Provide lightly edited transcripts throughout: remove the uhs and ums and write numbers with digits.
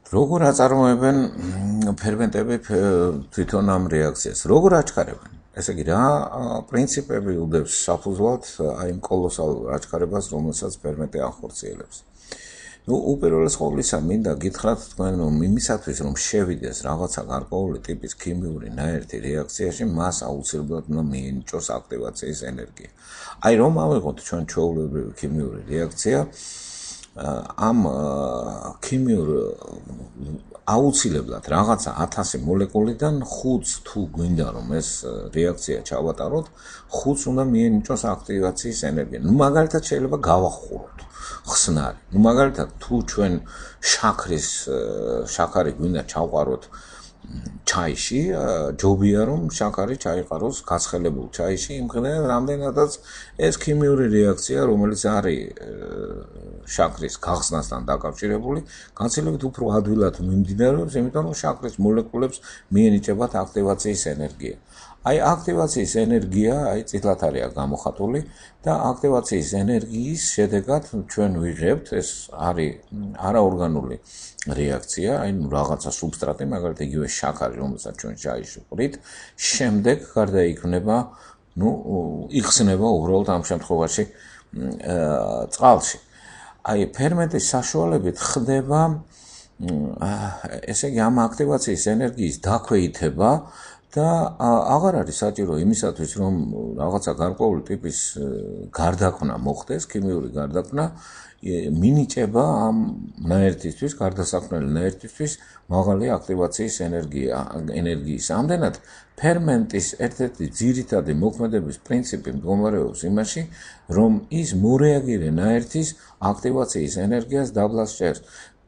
როგორ აწარმოებენ ფერმენტები თვითონ ამ რეაქციას? როგორ აჩქარებენ? ესე იგი, რა პრინციპები უდევს საფუძვლად აი იმ კოლოსალურ აჩქარებას, რომელსაც ფერმენტი ახორციელებს? უპირველეს ყოვლისა, მინდა გითხრათ თქვენ, რომ იმისათვის, რომ შევიდეს რაღაცა გარკვეული ტიპის ქიმიური ნაერთი რეაქციაში, მას აუცილებლად უნდა მიენიჭოს აქტივაციის ენერგია. აი, რომ ავიღოთ ჩვენ ჩვეულებრივი ქიმიური რეაქცია, ამ ქიმიურ აუცილებლად რაღაცა 1000 მოლეკულიდან 5-ს თუ გვინდა რომ ეს რეაქცია ჩავატაროთ, 5-ს უნდა მიენიჭოს აქტივაციის ენერგია. მაგალითად შეიძლება გავახუროთ ხსნარი. მაგალითად თუ ჩვენ შაქარი გვინდა ჩავყაროთ ჩაიში, ჯობია რომ შაქარი ჩაიყაროს გაცხელებულ ჩაიში, იმხნევ რამდენადაც ეს ქიმიური რეაქცია, რომელიც არის შაქრის გახსნასთან დაკავშირებული, განსაკუთრებით უფრო ადვილად მიმდინარეობს, იმიტომ რომ შაქრის მოლეკულებს მიენიჭებათ აქტივაციის ენერგია. აი აქტივაციის ენერგია, აი წითლად არის გამოხატული და აქტივაციის ენერგიის შედეგად ჩვენ ვიღებთ, ეს არის არაორგანული რეაქცია, აი რაღაცა სუბსტრატი, მაგალითად იგივე შაქარი, რომელსაც ჩვენ ჩაიში ვყრით, შემდეგ გარდაიქმნება, იხსნება უბრალოდ ამ შემთხვევაში წყალში. აი ფერმენტის საშუალებით ხდება, ესე იგი ამ აქტივაციის ენერგიის დაქვეითება და აღარ არის საჭირო იმისათვის, რომ რაღაცა გარკვეული ტიპის გარდაქმნა მოხდეს, ქიმიური გარდაქმნა, მინიჭება ამ ნაერთისთვის, გარდასაქმნელი ნაერთისთვის მაღალი აქტივაციის ენერგიის. ამდენად ფერმენტის ერთ-ერთი ძირითადი მოქმედების პრინციპი მდგომარეობს იმაში, რომ ის მორეაგირე ნაერთის აქტივაციის ენერგიას დაბლას ჭერს.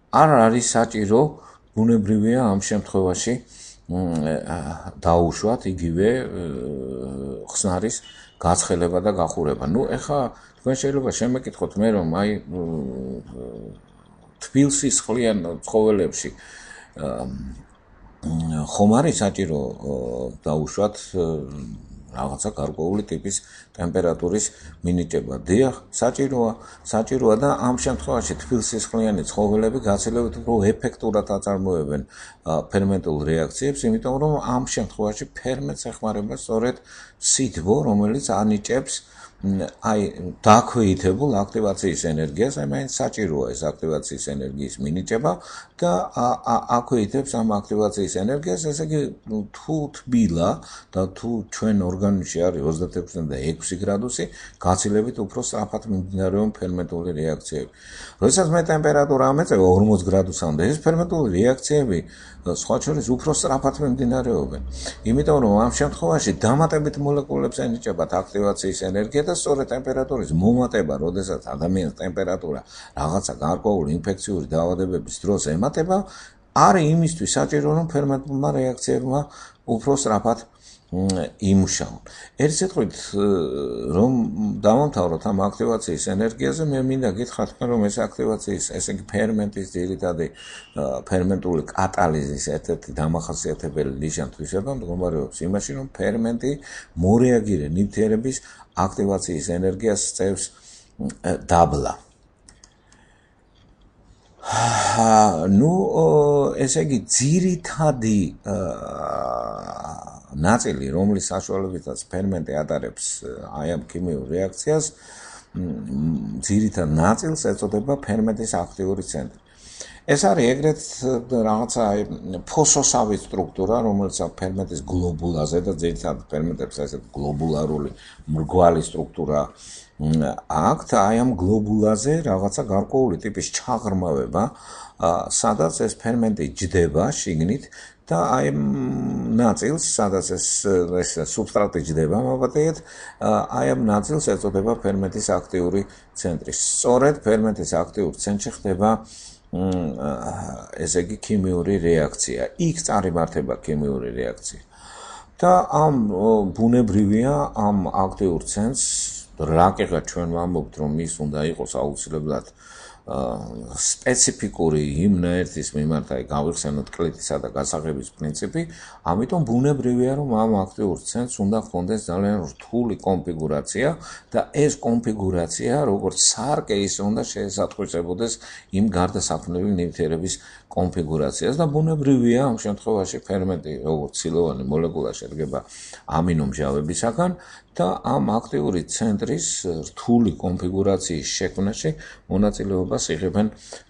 არ არის საჭირო, ბუნებრივია ამ შემთხვევაში დაუშვათ იგივე ხსნარის გაცხელება და გახურება. ეხლა თქვენ შეიძლება შემეკითხოთ მე, რომ აი თბილ სისხლიან ცხოველებში ხომ არის საჭირო დაუშვათ რაღაცა გარკვეული ტიპის ტემპერატურის მინიჭება. დიახ, საჭიროა და ამ შემთხვევაში თბილსისხლიანი ცხოველები გაცილებით უფრო ეფექტურად აწარმოებენ ფერმენტულ რეაქციებს, იმიტომ რომ ამ შემთხვევაში ფერმენტს ეხმარება სწორედ სითბო, რომელიც ანიჭებს აი დაქვეითებულ აქტივაციის ენერგიას, აი მაინც საჭიროა ეს აქტივაციის ენერგიის მინიჭება და აქვეითებს ამ აქტივაციის ენერგიას, ესე იგი თუ თბილა და თუ ჩვენ ორგანიზმში არის 26-6 გრადუსი, გაცილებით უფრო სწრაფად მიმდინარეობს ფერმენტული რეაქციები. როდესაც მე ტემპერატურა ამეწევა 40 გრადუსამდე, ეს ფერმენტული რეაქციები სხვა შორის უფრო სწრაფად მიმდინარეობენ. იმიტომ რომ ამ შემთხვევაში დამატებით მოლეკულებს ენიჭებათ აქტივაციის ენერგია და სწორედ ტემპერატურის მომატება, როდესაც ადამიანის ტემპერატურა რაღაცა გარკვეული ინფექციური დაავადებების დროს ემატება, არის იმისთვის საჭირო, რომ ფერმენტულმა რეაქციებმა უფრო სწრაფად იმუშაონ. ერთ სიტყვით, რომ დავამთავროთ ამ აქტივაციის ენერგიაზე, მე მინდა გითხრათ, რომ ეს აქტივაციის, ესე იგი ფერმენტის ძირითადი ფერმენტული კატალიზის ერთ-ერთი დამახასიათებელი ნიშან-თვისება მდგომარეობს იმაში, რომ ფერმენტი მორეაგირე ნივთიერების აქტივაციის ენერგიას წევს დაბლა. ესე იგი ძირითადი ნაწილი, რომლის საშუალებითაც ფერმენტი ატარებს აი ამ ქიმიურ რეაქციას, ძირითად ნაწილს ეწოდება ფერმენტის აქტიური ცენტრი. ეს არის ეგრეთ რაღაცა ფოსოსავი სტრუქტურა, რომელიც ფერმენტის გლობულაზე და ძირითადად ფერმენტებს ესეთ გლობულარული მრგვალი სტრუქტურა აქვთ, აი ამ გლობულაზე რაღაცა გარკვეული ტიპის ჩაღრმავება, სადაც ეს ფერმენტი ჯდება შიგნით და აი ნაწილს, სადაც ეს სუბსტრატი ჯდება, მოვატიეთ, აი ამ ნაწილს ეწოდება ფერმენტის აქტიური ცენტრი. სწორედ ფერმენტის აქტიურ ცენტრში ხდება ესე იგი ქიმიური რეაქცია. იქ წარიმართება ქიმიური რეაქცია. და ამ ბუნებრივია ამ აქტიურ ცენტრს რაკეღა ჩვენ ვამბობთ, რომ ის უნდა იყოს აუცილებლად სპეციფიკური იმნაერთის მიმართ აი გავიხსენოთ კლიტისა და გასაღების პრინციპი, ამიტომ ბუნებრივია რომ ამ აქტიურ ცენტრს უნდა ჰქონდეს ძალიან რთული კონფიგურაცია და ეს კონფიგურაცია როგორც სარკე ისე უნდა შეესატყვისებოდეს იმ გარდასაქმნელი ნივთიერების კონფიგურაციას და ბუნებრივია ამ შემთხვევაში ფერმენტი როგორც ცილოვანი მოლეკულა შედგება ამინომჟავებისაგან და ამ აქტიური ცენტრის რთული კონფიგურაციის შექმნაში მონაწილეობას იღებენ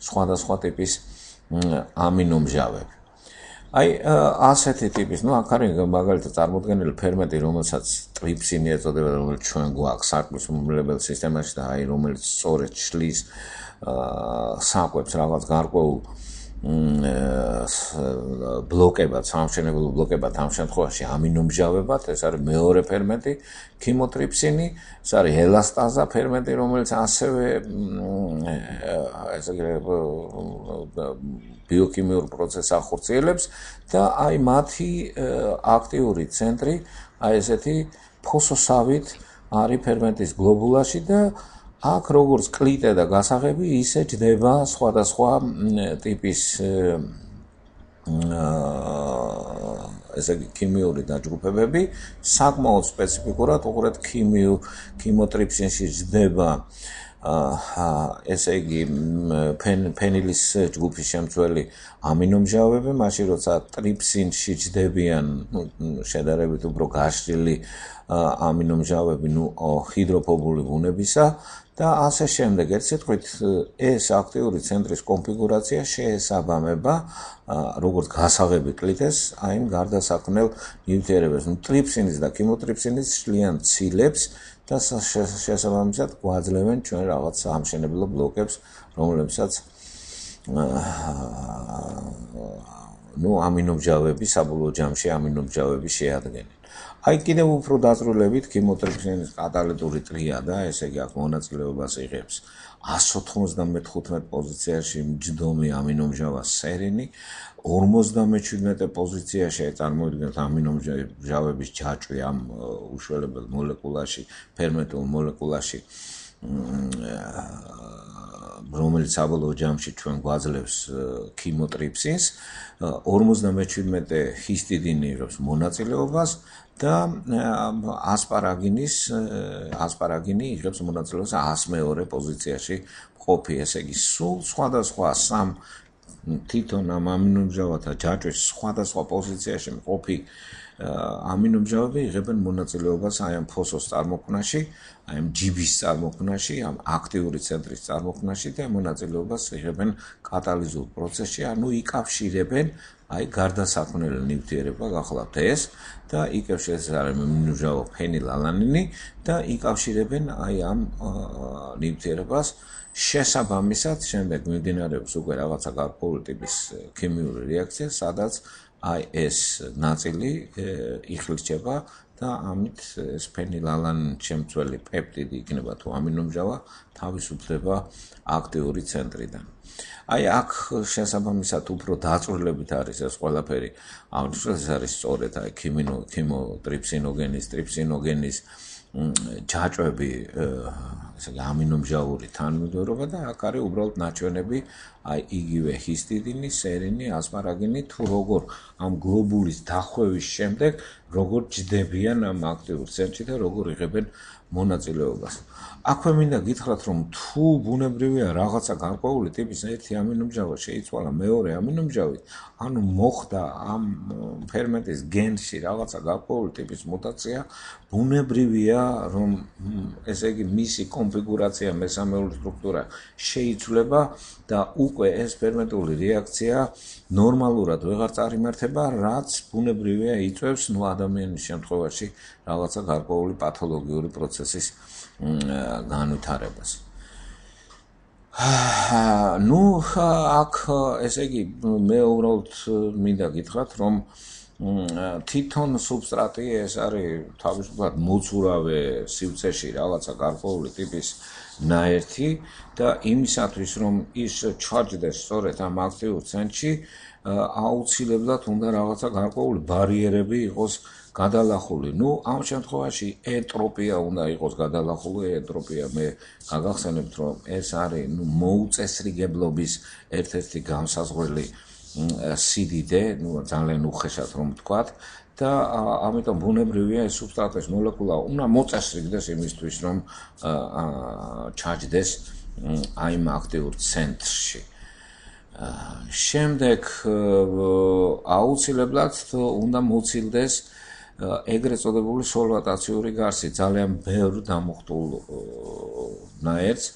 სხვადასხვა ტიპის ამინომჟავები. აი ასეთი ტიპის, აქ არის მაგალითად წარმოდგენილი ფერმენტი, რომელსაც ტრიფსინი ეწოდება, რომელიც ჩვენ გვაქვს საკვების მომრილებელ სისტემაში და აი რომელიც სწორედ შლის საკვებს რაღაც გარკვეულ ბლოკებად, სამშენებლო ბლოკებად ამ შემთხვევაში ამინომჟავებად, ეს არის მეორე ფერმენტი, ქიმოტრიფსინი, ეს არის ელასტაზა ფერმენტი, რომელიც ასევე ესე ბიოქიმიურ პროცესს ახორციელებს და აი მათი აქტიური ცენტრი, აი ესეთი ფოსოსავით არის ფერმენტის გლობულაში და აქ როგორც კლიტე და გასაღები ისე ჯდება სხვადასხვა ტიპის ესე იგი ქიმიური დაჯგუფებები საკმაოდ სპეციფიკურად უყურეთ ქიმოტრიფსინში ჯდება ესე იგი ფენილის ჯგუფის შემცველი ამინომჟავები, მაშინ როცა ტრიფსინში ჯდებიან შედარებით უფრო გაშლილი ამინომჟავები, ჰიდროფობული ბუნებისა და ასე შემდეგ. ერთ სიტყვით, ეს აქტიური ცენტრის კონფიგურაცია შეესაბამება როგორც გასაღები კლიტეს, აი იმ გარდასაქმნელ ნივთიერებებს. ტრიფსინის და ქიმოტრიფსინის შლიან ცილებს და შესაბამისად გვაძლევენ ჩვენ რაღაც სამშენებლო ბლოკებს, რომლებსაც ამინომჟავები, საბოლოო ჯამში ამინომჟავები შეადგენენ. აი კიდევ უფრო დაწვრილებით ქიმოტრიფსინის კატალიტური ტრიადა, ესე იგი აქ მონაწილეობას იღებს 195 პოზიციაში მჯდომი ამინომჟავა სერინი, 57 პოზიციაში წარმოიდგინეთ ამინომჟავების ჯაჭვი ამ უშველებელ მოლეკულაში, ფერმენტულ მოლეკულაში, რომელიც საბოლოო ჯამში ჩვენ გვაძლევს ქიმოტრიფსინს, 57 ჰისტიდინი იღებს მონაწილეობას და ასპარაგინი იღებს მონაწილეობას 102 პოზიციაში მყოფი, ესე იგი სულ სხვადასხვა სამ თვითონ ამ ამინომჟავათა ჯაჭვის სხვადასხვა პოზიციაში მყოფი ამინომჟავები იღებენ მონაწილეობას აი ამ ფოსოს წარმოქმნაში, აი ამ ჯიბის წარმოქმნაში, ამ აქტიური ცენტრის წარმოქმნაში და მონაწილეობას იღებენ კატალიზურ პროცესში, ანუ იკავშირებენ აი გარდასაქმნელი ნივთიერება გახლავთ ეს და იკავშირებს ამინომჟავა ფენილალანინი და იკავშირებენ აი ამ ნივთიერებას შესაბამისად შემდეგ მიმდინარეობს უკვე რაღაცა გარკვეული ტიპის ქიმიური რეაქცია, სადაც აი ეს ნაწილი იხლიჩება და ამით ეს ფენილალანინ შემცველი პეპტიდი იქნება თუ ამინომჟავა თავისუფლდება აქტიური ცენტრიდან. აი აქ შესაბამისად უფრო დაწვრილებით არის ეს ყველაფერი, ეს არის სწორედ აი ქიმოტრიფსინოგენის, ტრიფსინოგენის ჯაჭვები, ესე იგი ამინომჟავური თანმიმდევრობა და აქ არის უბრალოდ ნაჩვენები აი იგივე ჰისტიდინი, სერინი, ასპარაგინი თუ როგორ ამ გლობულის დახვევის შემდეგ როგორ ჯდებიან ამ აქტიურ ცენტრში და როგორ იღებენ მონაწილეობას. აქვე მინდა გითხრათ, რომ თუ ბუნებრივია რაღაცა გარკვეული ტიპის ერთი ამინომჟავა შეიცვალა მეორე ამინომჟავით, ანუ მოხდა ამ ფერმენტის გენში რაღაცა გარკვეული ტიპის მუტაცია, ბუნებრივია, რომ ესე იგი მისი კონფიგურაცია, მესამეული სტრუქტურა შეიცვლება და უკვე ეს ფერმენტული რეაქცია ნორმალურად ვეღარ წარიმართება, რაც ბუნებრივია იწვევს ადამიანის შემთხვევაში რაღაცა გარკვეული პათოლოგიური პროცესის განვითარებას. აქ ესე იგი მე უბრალოდ მინდა გითხრათ, რომ თვითონ სუბსტრატი ეს არის თავისუფლად მოცურავე სივრცეში რაღაცა გარკვეული ტიპის ნაერთი და იმისათვის რომ ის ჩაჯდეს სწორედ ამ აქტიურ ცენტრში აუცილებლად უნდა რაღაცა გარკვეული ბარიერები იყოს გადალახული. ნუ ამ შემთხვევაში ენტროპია უნდა იყოს გადალახული, ენტროპია მე გაგახსენებთ რომ ეს არის მოუწესრიგებლობის ერთ-ერთი განსაზღვრელი სიდიდე, ძალიან უხეშად რომ ვთქვათ და ამიტომ ბუნებრივია ეს სუბსტრატის მოლეკულა უნდა მოწესრიგდეს იმისთვის რომ ჩაჯდეს აიმ აქტიურ ცენტრში. შემდეგ აუცილებლად უნდა მოცილდეს ეგრეთ წოდებული სოლვატაციური გარსი, ძალიან ბევრ დამუხტულ ნაერთს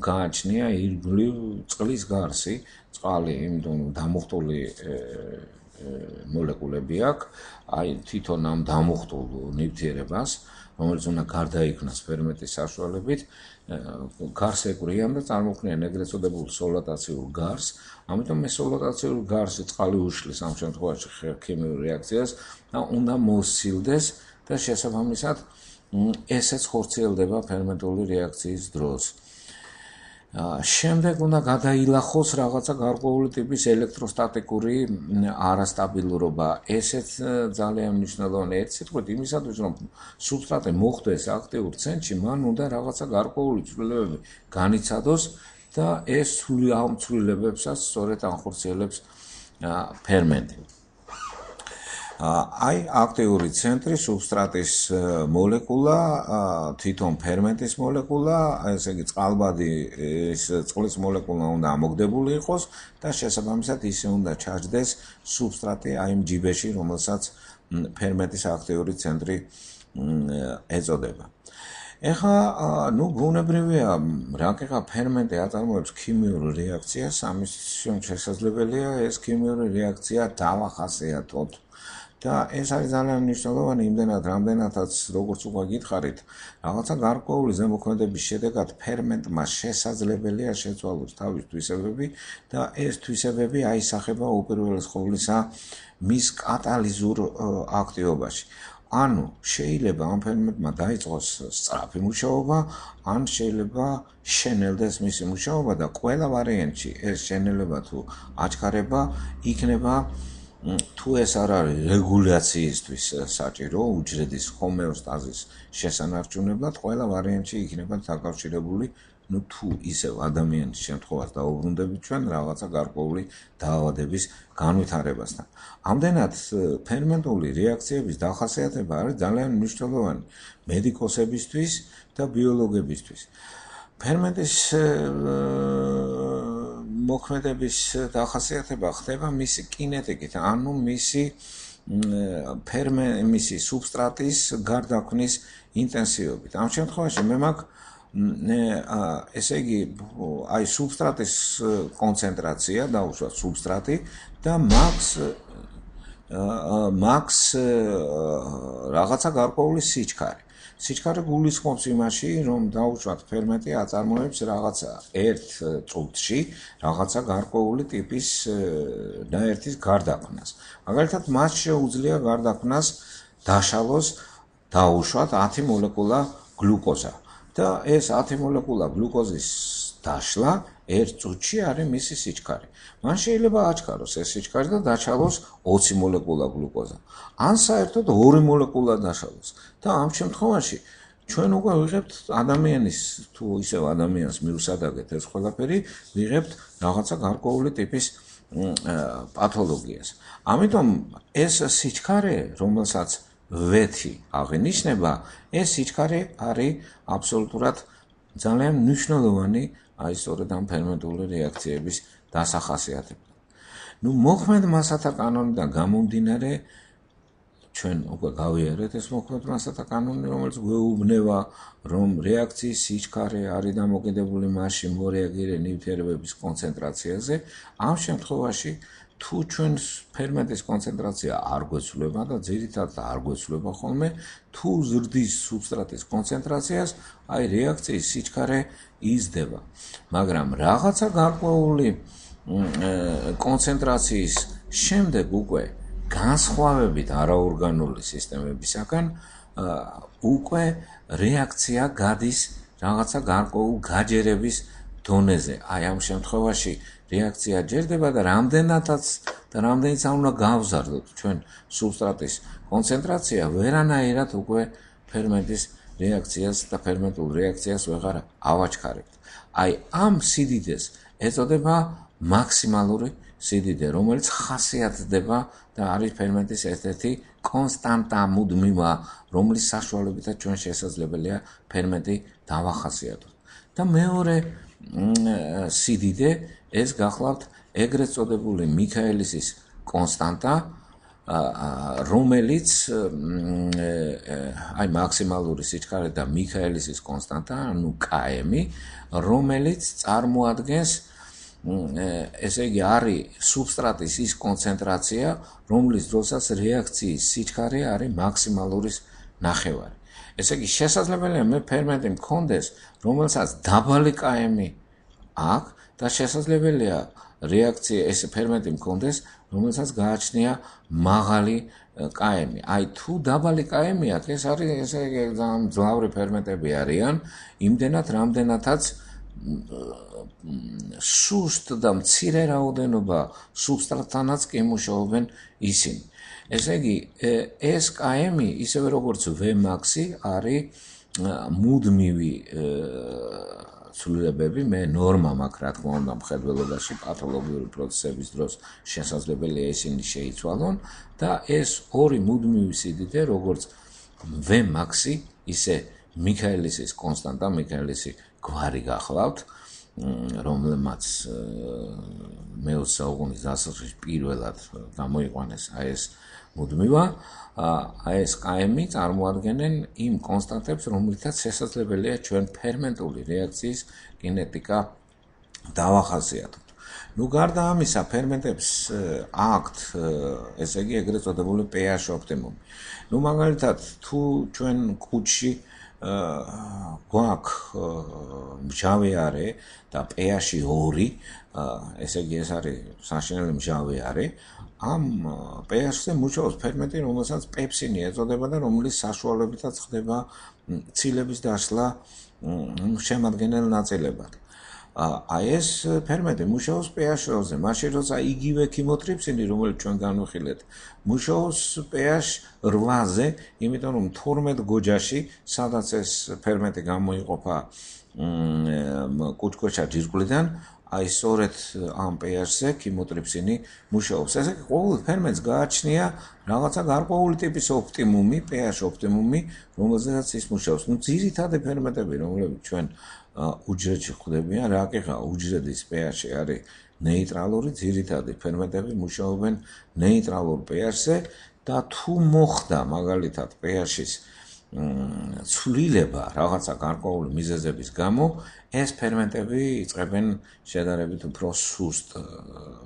გააჩნია ირგვლივ წყლის გარსი, წყალი იმიტომ დამუხტული მოლეკულები აქვს, აი თვითონ ამ დამუხტულ ნივთიერებას, რომელიც უნდა გარდაიქმნას ფერმენტის საშუალებით, გარს ეკვრიან და წარმოქმნიან ეგრეთ წოდებულ სოლვატაციურ გარს. ამიტომ ეს სოლვატაციური გარსი წყალი უშლის ამ შემთხვევაში ქიმიურ რეაქციას და უნდა მოსცილდეს და შესაბამისად ესეც ხორციელდება ფერმენტული რეაქციის დროს. შემდეგ უნდა გადაილახოს რაღაცა გარკვეული ტიპის ელექტროსტატიკური არასტაბილურობა. ესეც ძალიან მნიშვნელოვანია. ერთ სიტყვით იმისათვის რომ სუბსტრატი მოხვდეს აქტიურ ცენტრში, მან უნდა რაღაცა გარკვეული ცვლილებები განიცადოს და ეს ამ ცვლილებებსაც სწორედ ახორციელებს ფერმენტი. აი აქტიური ცენტრი სუბსტრატის მოლეკულა, თვითონ ფერმენტის მოლეკულა, ესე იგი წყალბადი ეს წყლის მოლეკულა უნდა ამოგდებული იყოს და შესაბამისად ისე უნდა ჩაჯდეს სუბსტრატი აი იმ ჯიბეში, რომელსაც ფერმენტის აქტიური ცენტრი ეწოდება. ეხლა ნუ ბუნებრივია რაკეღა ფერმენტი აწარმოებს ქიმიურ რეაქციას, ამის შესაძლებელია ეს ქიმიური რეაქცია დავახასიათოთ. და ეს არის ძალიან მნიშვნელოვანი იმდენად, რამდენადაც როგორც უკვე გითხარით, რაღაცა გარკვეული ზემოქმედების შედეგად ფერმენტმა შესაძლებელია შეცვალოს თავის თვისებები და ეს თვისებები აისახება უპირველეს ყოვლისა მის კატალიზურ აქტივობაში. ანუ შეიძლება ამ ფერმენტმა დაიწყოს სწრაფი მუშაობა, ან შეიძლება შენელდეს მისი მუშაობა და ყველა ვარიანტში ეს შენელება თუ აჩქარება იქნება თუ ეს არ არის რეგულაციისთვის საჭირო უჯრედის ჰომეოსტაზის შესანარჩუნებლად, ყველა ვარიანტში იქნება დაკავშირებული, ნუ თუ ისევ ადამიანის შემთხვევას დაუბრუნდებით ჩვენ რაღაცა გარკვეული დაავადების განვითარებასთან. ამდენად ფერმენტული რეაქციების დახასიათება არის ძალიან მნიშვნელოვანი მედიკოსებისთვის და ბიოლოგებისთვის. ფერმენტის მოქმედების დახასიათება ხდება მისი კინეტიკით, ანუ მისი სუბსტრატის გარდაქმნის ინტენსივობით. ამ შემთხვევაში მე მაქვს ესე იგი აი სუბსტრატის კონცენტრაცია დაუშვათ სუბსტრატი და მაქვს რაღაცა გარკვეული სიჩქარე. სიჩქარე გულისხმობს იმაში, რომ დაუშვათ ფერმენტი აწარმოებს რაღაცა ერთ წუთში რაღაცა გარკვეული ტიპის ნაერთის გარდაქმნას. მაგალითად, მას შეუძლია გარდაქმნას დაშალოს დაუშვათ 10 მოლეკულა გლუკოზა და ეს 10 მოლეკულა გლუკოზის დაშლა ერთ წუთში არის მისი სიჩქარე. მან შეიძლება აჩქაროს ეს სიჩქარე და დაშალოს 20 მოლეკულა გლუკოზა. ან საერთოდ 2 მოლეკულა დაშალოს. და ამ შემთხვევაში ჩვენ უკვე ვიღებთ ადამიანის თუ ისევ ადამიანს მივსადაგეთ ეს ყველაფერი, ვიღებთ რაღაცა გარკვეული ტიპის პათოლოგიას. ამიტომ ეს სიჩქარე, რომელსაც ვეთი აღინიშნება, ეს სიჩქარე არის აბსოლუტურად ძალიან მნიშვნელოვანი აი სწორედ ამ ფერმენტული რეაქციების დასახასიათებლად. ნუ მოქმედ მასათა კანონიდან გამომდინარე ჩვენ უკვე გავიარეთ ეს მოქმედ მასათა კანონი, რომელიც გვეუბნება, რომ რეაქციის სიჩქარე არის დამოკიდებული მასში მორეაგირე ნივთიერებების კონცენტრაციაზე. ამ შემთხვევაში თუ ჩვენ ფერმენტის კონცენტრაცია არ გვეცვლება და ძირითადად არ გვეცვლება ხოლმე, თუ ზრდის სუბსტრატის კონცენტრაციას, აი რეაქციის სიჩქარე იზრდება. მაგრამ რაღაცა გარკვეული კონცენტრაციის შემდეგ უკვე განსხვავებით არაორგანული სისტემებისაგან უკვე რეაქცია გადის რაღაცა გარკვეულ გაჯერების დონეზე. აი ამ შემთხვევაში რეაქცია ჯერდება და რამდენიც არ უნდა გავზარდოთ ჩვენ სუბსტრატის კონცენტრაცია, ვერანაირად უკვე ფერმენტის რეაქციას და ფერმენტულ რეაქციას ვეღარ ავაჩქარებთ. აი ამ სიდიდეს ეწოდება მაქსიმალური სიდიდე, რომელიც ხასიათდება და არის ფერმენტის ერთ-ერთი კონსტანტა მუდმივა, რომლის საშუალებითაც ჩვენ შესაძლებელია ფერმენტი დავახასიათოთ. და მეორე სიდიდე ეს გახლავთ ეგრეთ წოდებული მიქაელისის კონსტანტა, რომელიც აი მაქსიმალური სიჩქარე და მიქაელისის კონსტანტა, ანუ km, რომელიც წარმოადგენს ესე იგი არის სუბსტრატის ის კონცენტრაცია, რომლის დროსაც რეაქციის სიჩქარე არის მაქსიმალურის ნახევარი. ესე იგი შესაძლებელია მე ფერმენტი მქონდეს, რომელსაც დაბალი km აქვს და შესაძლებელია რეაქცია ეს ფერმენტი მქონდეს, რომელსაც გააჩნია მაღალი km. აი თუ დაბალი km აქვს, ეს არის ესე იგი ძალიან მძლავრი ფერმენტები არიან, იმდენად რამდენადაც სუსტ და მცირე რაოდენობა სუბსტრატთანაც კი მუშაობენ ისინი. ესე იგი ეს km ისევე როგორც Vmax-ი არის მუდმივი ცვლილებები, მე ნორმა მაქვს რა თქმა უნდა მხედველობაში პათოლოგიური პროცესების დროს შესაძლებელია ისინი შეიცვალონ და ეს ორი მუდმივი სიდიდე როგორც Vmax-ი, ისე მიქაელისის კონსტანტა, მიქაელისი გვარი გახლავთ, რომელმაც მე-20 საუკუნის დასაწყისში პირველად გამოიყვანეს აი ეს მუდმივა, აი ეს km წარმოადგენენ იმ კონსტანტებს, რომლითაც შესაძლებელია ჩვენ ფერმენტული რეაქციის კინეტიკა დავახასიათოთ. ნუ გარდა ამისა, ფერმენტებს აქვთ, ესე იგი ეგრეთ წოდებული pH ოპტიმუმი. ნუ მაგალითად, თუ ჩვენ კუჭში გვაქვს მჟავე არე და pH-ი 2, ესე იგი ეს არის საშინელი მჟავე არე, ამ pH-ზე მუშაობს ფერმენტი, რომელსაც პეპსინი ეწოდება და რომლის საშუალებითაც ხდება ცილების დაშლა შემადგენელ ნაწილებად. აი ეს ფერმენტი მუშაობს pH-ზე, მაშინ როცა იგივე ქიმოტრიფსინი, რომელიც ჩვენ განვიხილეთ, მუშაობს pH 8-ზე, იმიტომ რომ 12 გოჯაში, სადაც ეს ფერმენტი გამოიყოფა კუჭქვეშა ჯირკვლიდან, აი სწორედ ამ pH-ზე ქიმოტრიფსინი მუშაობს. ესე იგი ყოველ ფერმენტს გააჩნია რაღაცა გარკვეული ტიპის ოპტიმუმი, pH ოპტიმუმი, რომელზედაც ის მუშაობს. ნუ ძირითადი ფერმენტები, რომლებიც ჩვენ უჯრედში ხვდებიან, რა კი ხა, უჯრედის pH-ი არის ნეიტრალური, ძირითადი ფერმენტები მუშაობენ ნეიტრალურ pH-ზე და თუ მოხდა მაგალითად pH-ის ცვლილება რაღაცა გარკვეული მიზეზების გამო, ეს ფერმენტები იწყებენ შედარებით უფრო სუსტ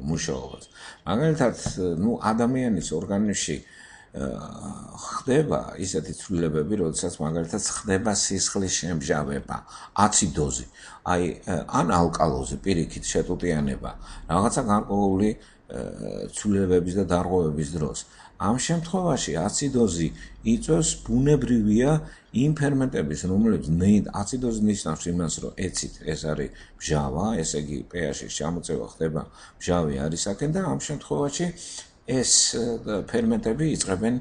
მუშაობას. მაგალითად, ნუ ადამიანის ორგანიზმში ხდება ისეთი ცვლილებები, როდესაც მაგალითად ხდება სისხლის შემჟავება, აციდოზი, აი ან ალკალოზი, პირიქით შეტუტიანება, რაღაცა გარკვეული ცვლილებების და დარღვევების დროს. ამ შემთხვევაში აციდოზი იწვევს ბუნებრივია იმ ფერმენტების, რომლებიც აციდოზი ნიშნავს იმას, რომ ეცით ეს არის მჟავა, ესე იგი pH-ის ჩამოწევა ხდება მჟავი არისაკენ და ამ შემთხვევაში ეს ფერმენტები იწყებენ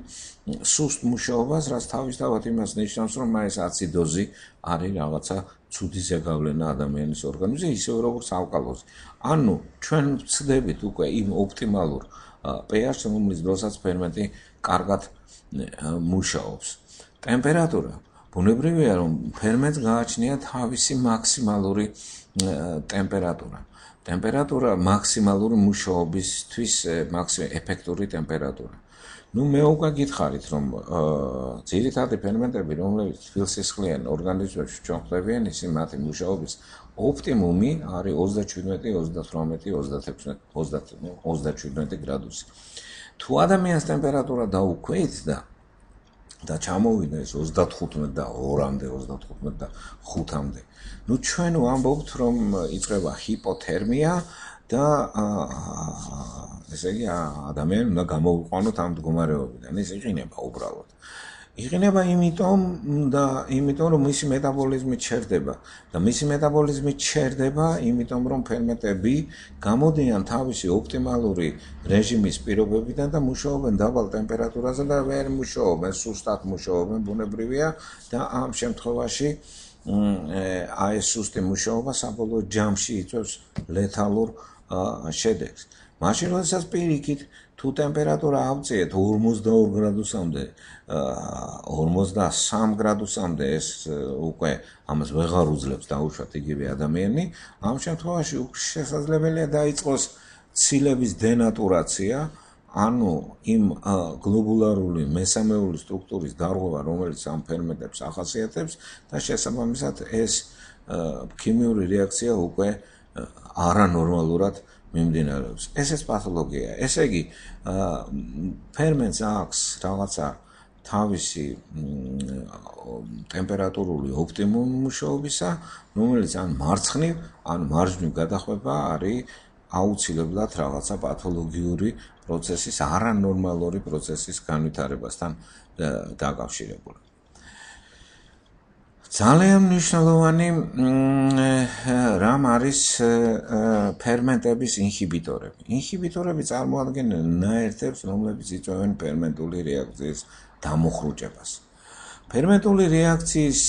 სუსტ მუშაობას, რაც თავისთავად იმას ნიშნავს, რომ ეს აციდოზი არის რაღაცა ცუდი ზეგავლენა ადამიანის ორგანიზმზე, ისევე როგორც ალკალოზი. ანუ ჩვენ ვცდებით უკვე იმ ოპტიმალურ pH-ს, რომლის დროსაც ფერმენტი კარგად მუშაობს. ტემპერატურა. ბუნებრივია, რომ ფერმენტს გააჩნია თავისი მაქსიმალური ტემპერატურა. ტემპერატურა მაქსიმალური მუშაობისთვის ეფექტური ტემპერატურა. ნუ მე უკვე გითხარით, რომ ძირითადი ფერმენტები, რომლებიც თბილსისხლიან ორგანიზმებში ჩვენ ხვდებიან, ისინი მათი მუშაობის ოპტიმუმი არის 27-38-36 37 გრადუსი. თუ ადამიანის ტემპერატურა დაუქვეით და ჩამოვიდა ეს 35 და 2-მდე, 35 და 5-მდე. ნუ ჩვენ ვამბობთ, რომ იწყება ჰიპოთერმია და ესე იგი ადამიანი უნდა გამოვიყვანოთ ამ მდგომარეობიდან. ეს იყინება უბრალოდ. იყინება იმიტომ რომ მისი მეტაბოლიზმი ჩერდება და მისი მეტაბოლიზმი ჩერდება იმიტომ რომ ფერმენტები გამოდიან თავისი ოპტიმალური რეჟიმის პირობებიდან და მუშაობენ დაბალ ტემპერატურაზე და ვერ მუშაობენ, სუსტად მუშაობენ, ბუნებრივია და ამ შემთხვევაში აი ეს სუსტი მუშაობა საბოლოო ჯამში იწვევს ლეთალურ შედეგს. მაშინ როდესაც პირიქით თუ ტემპერატურა ავწიეთ 42 გრადუსამდე 53 გრადუსამდე ეს უკვე ამას ვეღარ უძლებს დაუშვათ იგივე ადამიანი ამ შემთხვევაში შესაძლებელია დაიწყოს ცილების დენატურაცია ანუ იმ გლობულარული მესამეული სტრუქტურის დარღვევა რომელიც ამ ფერმენტებს ახასიათებს და შესაბამისად ეს ქიმიური რეაქცია უკვე არანორმალურად მიმდინარეობს. ესეც პათოლოგია. ესე იგი, ფერმენტს აქვს რაღაცა თავისი ტემპერატურული ოპტიმუმი მუშაობისა, რომელიც ან მარცხნივ, ან მარჯვნივ გადახვება არის აუცილებლად რაღაცა პათოლოგიური პროცესის, არანორმალური პროცესის განვითარებასთან დაკავშირებული. ძალიან მნიშვნელოვანი რამ არის ფერმენტების ინჰიბიტორები. ინჰიბიტორები წარმოადგენენ ნაერთებს, რომლებიც იწვევენ ფერმენტული რეაქციის დამუხრუჭებას. ფერმენტული რეაქციის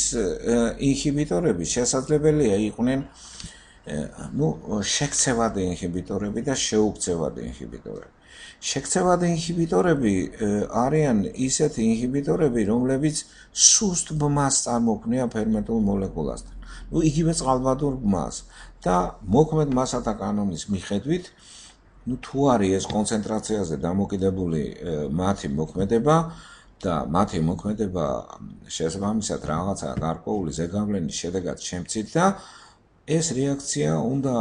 ინჰიბიტორები შესაძლებელია იყვნენ შექცევადი ინჰიბიტორები და შეუქცევადი ინჰიბიტორები. შექცევადი ინჰიბიტორები არიან ისეთი ინჰიბიტორები, რომლებიც სუსტ ბმას წარმოქმნიან ფერმენტულ მოლეკულასთან. იგივე წყალბადურ ბმას და მოქმედ მასათა კანონის მიხედვით, თუ არის ეს კონცენტრაციაზე დამოკიდებული მათი მოქმედება და მათი მოქმედება შესაბამისად რაღაცა გარკვეული ზეგავლენის შედეგად შემცირდა და ეს რეაქცია უნდა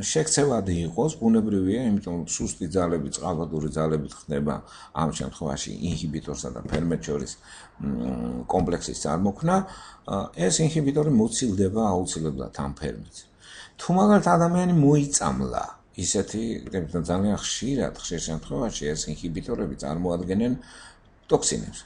შექცევადი იყოს, ბუნებრივია, იმიტომ რომ სუსტი ძალები, წყალბადური ძალებით ხდება ამ შემთხვევაში ინჰიბიტორსა და ფერმენტ შორის კომპლექსის წარმოქმნა, ეს ინჰიბიტორი მოცილდება აუცილებლად ამ ფერმენტს. თუ მაგალითად ადამიანი მოიწამლა, ისეთი ძალიან ხშირ შემთხვევაში ეს ინჰიბიტორები წარმოადგენენ ტოქსინებს.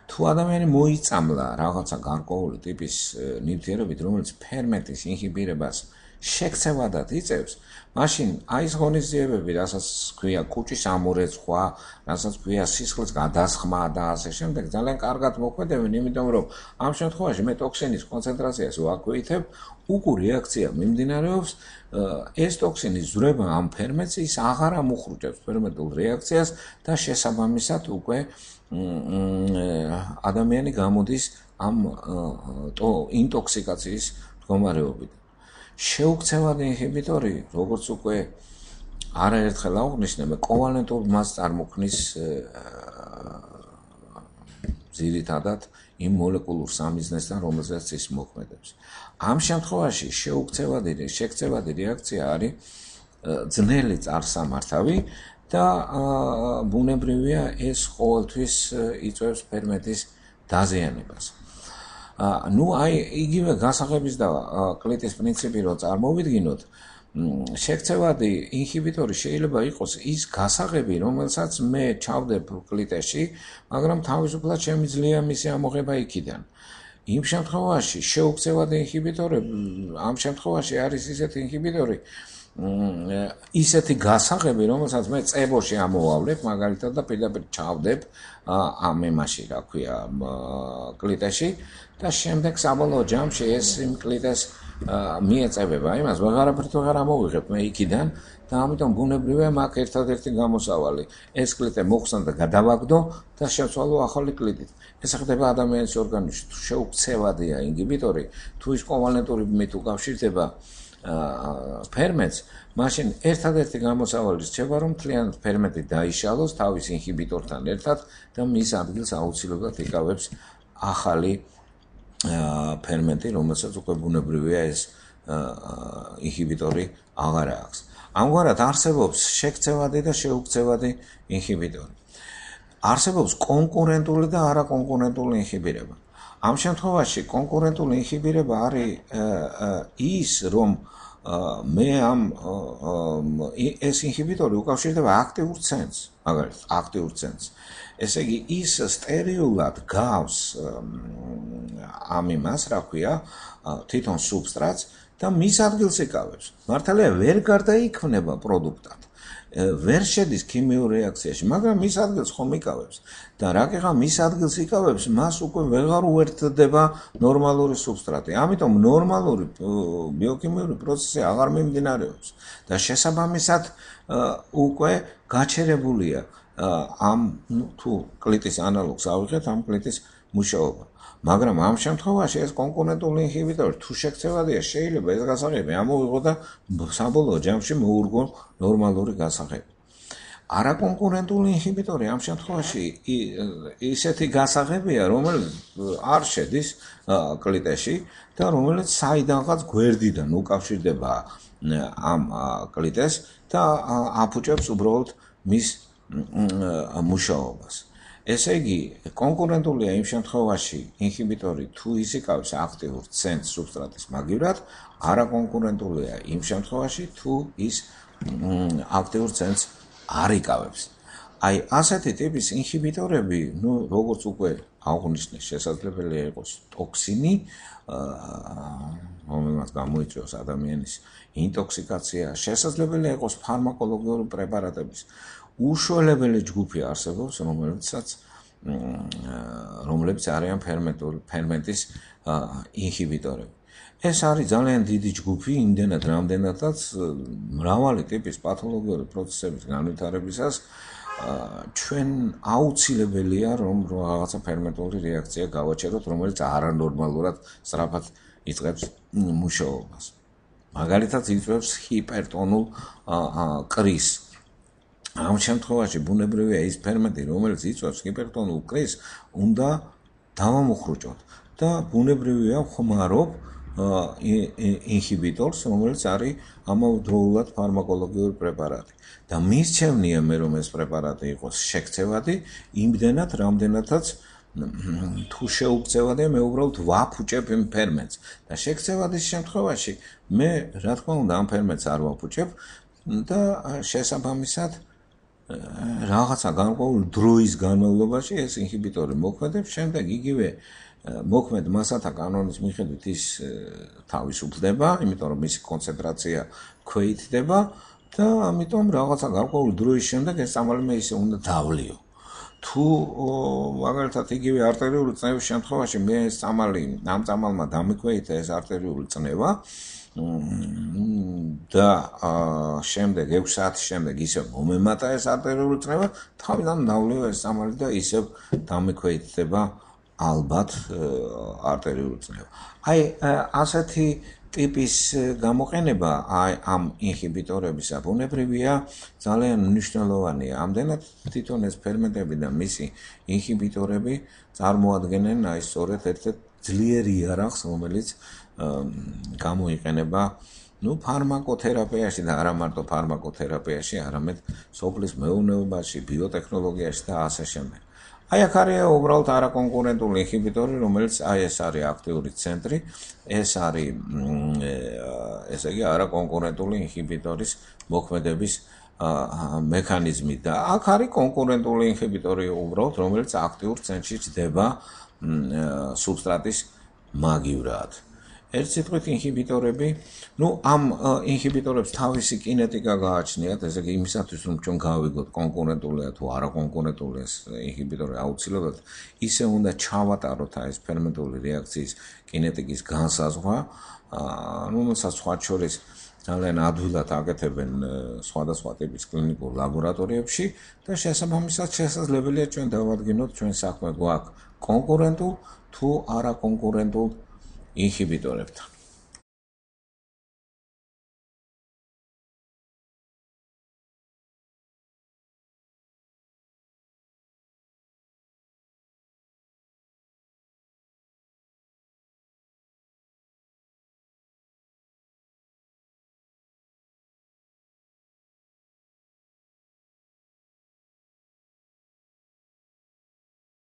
თუ ადამიანი მოიწამლა რაღაცა გარკვეული ტიპის ნივთიერებით, რომელიც ფერმენტის ინჰიბირებას შექცევადად იწევს, მაშინ აი ეს ღონისძიებები, რასაც ქვია კუჭის ამორეცხვა, რასაც ქვია სისხლის გადასხმა და ასე შემდეგ, ძალიან კარგად მოქმედებენ, იმიტომ რომ ამ შემთხვევაში მე ტოქსინის კონცენტრაციას ვაქვეითებ, უკუ რეაქცია მიმდინარეობს, ეს ტოქსინის ზრება ამ ფერმენტს ის აღარ ამუხრუჭებს ფერმენტულ რეაქციას და შესაბამისად უკვე ადამიანი გამოდის ამ ინტოქსიკაციის მდგომარეობიდან. შეუქცევადი ინჰიბიტორი, როგორც უკვე არაერთხელ აღვნიშნე, კოვალენტურ მასს წარმოქმნის ძირითადად იმ მოლეკულურ სამიზნესთან, რომელზეც ის მოქმედებს. ამ შემთხვევაში შექცევადი რეაქცია არის ძნელი წარსამართავი და ბუნებრივია ეს ყოველთვის იწვევს ფერმენტის დაზიანებას. აი იგივე გასაღების და კლიტის პრინციპი რო წარმოვიდგინოთ, შექცევადი ინჰიბიტორი შეიძლება იყოს ის გასაღები, რომელსაც მე ჩავდებ კლიტეში, მაგრამ თავისუფლად შემიძლია მისი ამოღება იქიდან. იმ შემთხვევაში შეუქცევადი ინჰიბიტორები, ამ შემთხვევაში არის ისეთი ინჰიბიტორი, ისეთი გასაღები, რომელსაც მე წებოში ამოვავლებ, მაგალითად და პირდაპირ ჩავდებ ამ ემაში, რა ქვია, კლიტეში და შემდეგ საბოლოო ჯამში ეს იმ კლიტეს მიეწევება, იმას ვეღარ ამოვიღებ მე იქიდან და ამიტომ ბუნებრივია მაგ ერთადერთი გამოსავალი. ეს კლიტე მოხსნა და გადავაგდო და შევცვალო ახალი კლიტით. ეს ხდება ადამიანის ორგანიზმში. თუ შეუქცევადია ინჰიბიტორი, თუ ის კოვალენტური ბმით უკავშირდება ფერმენტს, მაშინ ერთადერთი გამოსავალი რჩება, რომ მთლიანად ფერმენტი დაიშალოს თავის ინჰიბიტორთან ერთად და მის ადგილს აუცილებლად იკავებს ახალი ფერმენტი, რომელსაც უკვე ბუნებრივია ეს ინჰიბიტორი აღარ აქვს. ამგვარად არსებობს შექცევადი და შეუქცევადი ინჰიბიტორი. არსებობს კონკურენტული და არაკონკურენტული ინჰიბირება. ამ შემთხვევაში კონკურენტული ინჰიბირება არის ის, რომ მე ამ ეს ინჰიბიტორი უკავშირდება აქტიურ ცენტრს, მაგალითად, აქტიურ ცენტრს. ესე იგი, ის სტერილად გავს ამ იმას, რა ქვია, თვითონ სუბსტრატს და მის ადგილს იკავებს. მართალია ვერ გარდაიქმნება პროდუქტად. ვერ შედის ქიმიურ რეაქციაში, მაგრამ მის ადგილს ხომ იკავებს. და რაკეღა მის ადგილს იკავებს, მას უკვე ვეღარ უერთდება ნორმალური სუბსტრატი. ამიტომ ნორმალური ბიოქიმიური პროცესი აღარ მიმდინარეობს და შესაბამისად უკვე გაჩერებულია ამ თუ კლიტის ანალოგს ავიღეთ, ამ კლიტის მუშაობა. მაგრამ ამ შემთხვევაში ეს კონკურენტული ინჰიბიტორი თუ შექცევადია, შეიძლება ეს გასაღები ამოვიღო და საბოლოო ჯამში მოურგო ნორმალური გასაღები. არაკონკურენტული ინჰიბიტორი ამ შემთხვევაში ისეთი გასაღებია, რომელიც არ შედის კლიტეში და რომელიც საიდანღაც გვერდიდან უკავშირდება ამ კლიტეს და აფუჭებს უბრალოდ მის მუშაობას. ესე იგი, კონკურენტულია იმ შემთხვევაში ინჰიბიტორი თუ ის იკავებს აქტიურ ცენტრს სუბსტრატის მაგივრად, არაკონკურენტულია იმ შემთხვევაში თუ ის აქტიურ ცენტრს არ იკავებს. აი, ასეთი ტიპის ინჰიბიტორები, როგორც უკვე აღნიშნე, შესაძლებელია იყოს ტოქსინი, რომელმაც გამოიწვევს ადამიანის ინტოქსიკაცია, შესაძლებელია იყოს ფარმაკოლოგიური პრეპარატების უშუალებელი ჯგუფი არსებობს, რომლებიც არიან ფერმენტის ინჰიბიტორები. ეს არის ძალიან დიდი ჯგუფი, იმდენად რამდენადაც მრავალი ტიპის პათოლოგიური პროცესების განვითარებისას ჩვენ აუცილებელია, რომ რაღაცა ფერმენტული რეაქცია გავაჩეროთ, რომელიც არანორმალურად სწრაფად იწყებს მუშაობას. მაგალითად, იწვევს ჰიპერტონულ კრის. ამ შემთხვევაში ბუნებრივია ის ფერმენტი, რომელიც იწვევს ჰიპერტონულ კრის, უნდა დავამუხრუჭოთ და ბუნებრივია ხმარობ ინჰიბიტორს, რომელიც არის ამავდროულად ფარმაკოლოგიური პრეპარატი. და მისჩევნია მე, რომ ეს პრეპარატი იყოს შექცევადი, იმდენად, რამდენადაც თუ შეუქცევადია, მე უბრალოდ ვაფუჭებ იმ ფერმენტს. და შექცევადის შემთხვევაში მე, რა თქმა უნდა, ამ ფერმენტს არ ვაფუჭებ და შესაბამისად რაღაცა განმავლობ დროის განმავლობაში ეს ინჰიბიტორი მოქმედებს, შემდეგ იგივე მოქმედ მასათა კანონის მიხედვით ის თავისუფლდება, იმიტომ რომ მისი კონცენტრაცია ქვეითდება და ამიტომ რაღაცა განმავლობ დროის შემდეგ ეს წამალი მე ისე უნდა დავლიო. თუ მაგალითად იგივე არტერიული წნევის შემთხვევაში მე ეს წამალი ამ წამალმა დამიქვეითა ეს არტერიული წნევა და შემდეგ 6 საათის შემდეგ ისევ მომემატა ეს არტერიული წნევა, თავიდან დავლიო ეს წამალი და ისევ დამიქვეითდება ალბათ არტერიული წნევა. აი, ასეთი ტიპის გამოყენება ამ ინჰიბიტორებისა ბუნებრივია ძალიან მნიშვნელოვანია. ამდენად თვითონ ეს ფერმენტები და მისი ინჰიბიტორები წარმოადგენენ აი სწორედ ერთ-ერთ ძლიერ იარაღს, რომელიც გამოიყენება ფარმაკოთერაპიაში და არა მარტო ფარმაკოთერაპიაში, არამედ სოფლის მეურნეობაში, ბიოტექნოლოგიაში და ასე შემდეგ. აი აქ არის უბრალოდ არაკონკურენტული ინჰიბიტორი, რომელიც აი ეს არის აქტიური ცენტრი, ეს არის ესე იგი არაკონკურენტული ინჰიბიტორის მოქმედების მექანიზმი და აქ არის კონკურენტული ინჰიბიტორი უბრალოდ, რომელიც აქტიურ ცენტრში ჯდება სუბსტრატის მაგივრად. ერთ სიტყვით ინჰიბიტორები, ამ ინჰიბიტორებს თავისი კინეტიკა გააჩნიათ, ესე იგი იმისათვის, რომ ჩვენ გავიგოთ კონკურენტულია თუ არაკონკურენტულია ეს ინჰიბიტორი აუცილებლად, ისე უნდა ჩავატაროთ ეს ფერმენტული რეაქციის კინეტიკის განსაზღვრა, რომელსაც სხვათა შორის ძალიან ადვილად აკეთებენ სხვადასხვა ტიპის კლინიკურ ლაბორატორიებში და შესაბამისად შესაძლებელია ჩვენ დავადგინოთ ჩვენ საქმე გვაქვს კონკურენტულ თუ არაკონკურენტულ ინჰიბიტორებთან.